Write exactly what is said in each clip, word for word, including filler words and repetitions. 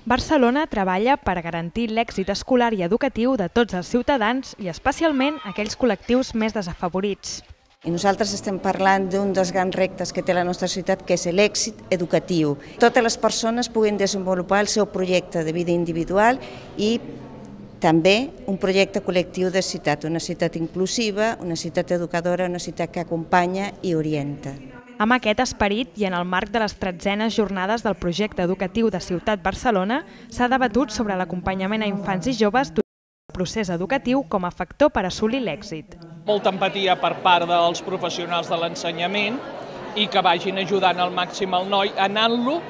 Barcelona treballa per garantir l'èxit escolar i educatiu de tots els ciutadans i especialment aquells col·lectius més desafavorits. I nosaltres estem parlant d'un dels grans reptes que té la nostra ciutat, que és l'èxit educatiu. Totes les persones puguin desenvolupar el seu projecte de vida individual i també un projecte col·lectiu de ciutat, una ciutat inclusiva, una ciutat educadora, una ciutat que acompanya i orienta. Amb aquest esperit i en el marc de les tretzenes jornades del projecte educatiu de Ciutat Barcelona s'ha debatut sobre l'acompanyament a infants i joves durant el procés educatiu com a factor per assolir l'èxit. Molta empatia per part dels professionals de l'ensenyament i que vagin ajudant al màxim el noi, anant-lo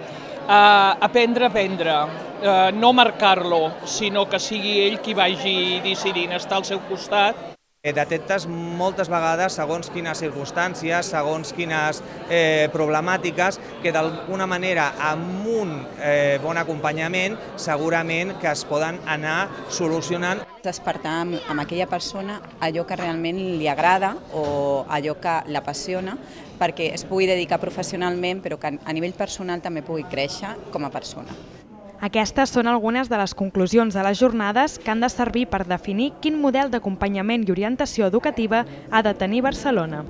a aprendre a aprendre, no marcar-lo, sinó que sigui ell qui vagi decidint estar al seu costat. Detectes moltes vegades, segons quines circumstàncies, segons quines eh, problemàtiques, que d'alguna manera amb un eh, bon acompanyament segurament que es poden anar solucionant. Despertar amb, amb aquella persona allò que realment li agrada o allò que l'apassiona perquè es pugui dedicar professionalment però que a nivell personal també pugui créixer com a persona. Aquestes són algunes de les conclusions de les jornades que han de servir per definir quin model d'acompanyament i orientació educativa ha de tenir Barcelona.